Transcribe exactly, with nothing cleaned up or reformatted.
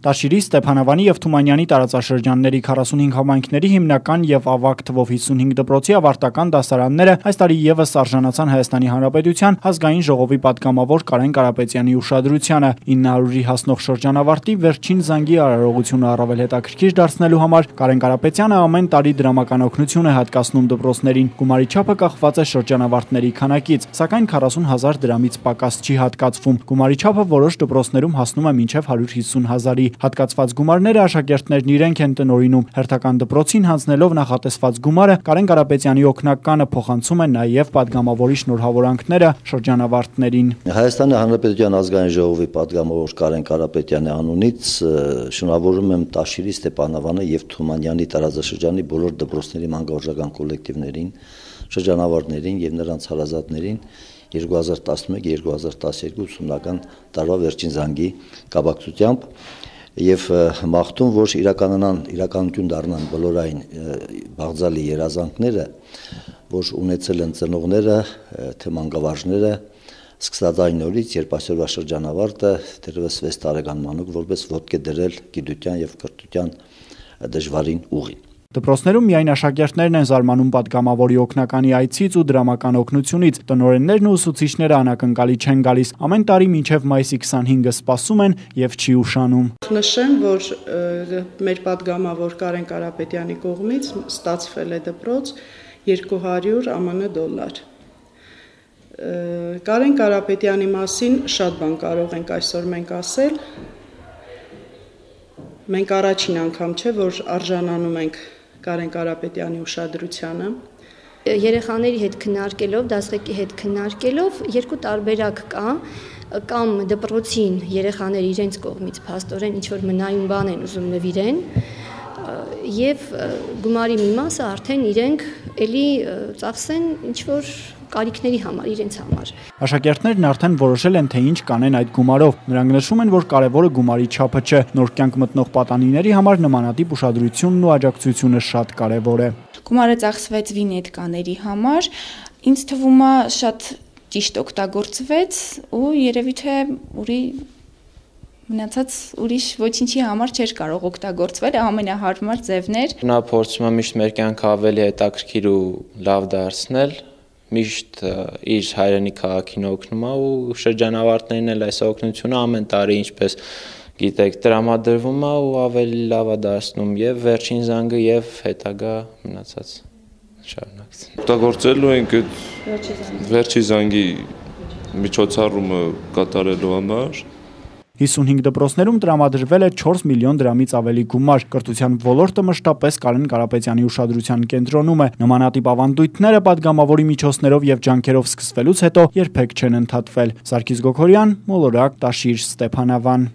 Տաշիրի, Ստեփանավանի և Թումանյանի տարածաշրջանների քառասունհինգ համայնքների հիմնական և ավագ թվով հիսունհինգ դպրոցի ավարտական դասարանները այս տարի ևս արժանացան Հայաստանի Հանրապետության Ազգային ժողովի պատգամավոր Կարեն Կարապետյանի ուշադրությանը։ ինը հարյուրի հասնող շրջանավարտի վերջին զանգի արարողությունը առավել հետաքրքիր դարձնելու համար Կարեն Կարապետյանը ամեն տարի դրամական օգնություն է հատկացնում դպրոցներին։ Գումարի չափը կախված է շրջանավարտների քանակից, սակայն քառասուն հազար դրամից պակաս չի հատկացվում։ Գումարի չափը որոշ դպրոցներում հասնում է մինչև հարյուր հիսուն հազարի։ Հատկացված գումարները աշակերտներն իրենք են տնօրինում։ Հերթական դպրոցին հանձնելով նախատեսված գումարը Կարեն Կարապետյանի օգնականը փոխանցում է նաև պատգամավորի շնորհավորանքները շրջանավարտներին։ Հայաստանի Հանրապետության Ազգային ժողովի պատգամավոր Կարեն Կարապետյանի անունից շնորհավորում եմ Տաշիրի, Ստեփանավանի և Թումանյանի տարածաշրջանի բոլոր դպրոցների մանկավարժական կոլեկտիվներին, շրջանավարտներին և նրանց հարազատներին երկու հազար տասնմեկ երկու հազար տասներկու ուսումնական տարվա վերջին զանգի կապակցությամբ եւ մաղթում, որ իրականանան իրականություն դառնան բոլորային բաղձալի երազանքները, որ ունեցել են ծնողները, թե մանկավարժները, սկսած այն օրից, երբ այսօրվա շրջանավարտը դեռևս վեց տարեկան մանուկ որպես ոտք է դրել գիտության եւ կրթության դժվարին ուղին։ Դպրոցներում միայն աշակերտներն են զարմանում պատգամավորի օգնականի այցից ու դրամական օգնությունից։ Տնօրեններն ու ուսուցիչները անակնկալի չեն գալիս։ Ամեն տարի մինչև մայիսի քսանհինգը սպասում են եւ չի ուշանում։ Նշեմ, որ մեր պատգամավոր Կարեն Կարապետյանի կողմից ստացվել է դպրոց երկու հարյուր ԱՄՆ դոլար։ Կարեն Կարապետյանի մասին շատ բան կարող ենք այսօր մենք ասել։ Մենք առաջին անգամ չէ, որ արժանանում ենք Կարեն Կարապետյանի ուշադրությանը։ Երեխաների հետ քննարկելով, դասղեկի հետ քննարկելով երկու տարբերակ կա, կամ դպրոցին երեխաները իրենց կողմից փաստորեն ինչ-որ մնայուն բան են ուզում նվիրեն, եւ գումարի մի մասը արդեն իրենք էլի ծախսեն ինչ-որ կարիքների համար, իրենց համար։ Աշակերտներն արդեն որոշել են, թե ինչ կանեն այդ գումարով։ Նրանք նշում են, որ կարևորը գումարի չափը չէ, նոր կյանք մտնող պատանիների համար նմանատիպ ուշադրությունն ու աջակցությունը շատ կարևոր է։ Գումարը ծախսվեց վինետկաների համար, ինձ թվում է շատ ճիշտ օգտագործվեց ու երևի թե ուրի մնացած ուրիշ ոչինչի համար չէր կարող օգտագործվել, ամենահարմար ձևն էր։ Նա փորձում է միշտ մեր կյանքը ավելի հետաքրքիր ու լավ դարձնել, միշտ իր հայրենի քաղաքին օգնում է ու շրջանավարտներին էլ այս օգնությունը ամեն տարի ինչպես գիտեք տրամադրվում է ու ավելի լավ է դարձնում եւ վերջին զանգը եւ հետագա մնացած շարունակություն։ Օգտագործելու ենք այդ վերջի զանգի միջոցառումը կատարելու համար։ հիսունհինգ դպրոցներում տրամադրվել է չորս միլիոն դրամից ավելի գումար։ Կրթության ոլորտը մշտապես Կարեն Կարապետյանի ուշադրության կենտրոնում է։ Նմանատիպ ավանդույթները պատգամավորի միջոցներով եւ ջանքերով սկսվելուց հետո երբեք չեն ընդհատվել։ Սարգիս Գոքորյան, Մոլորակ, Տաշիր, Ստեփանավան։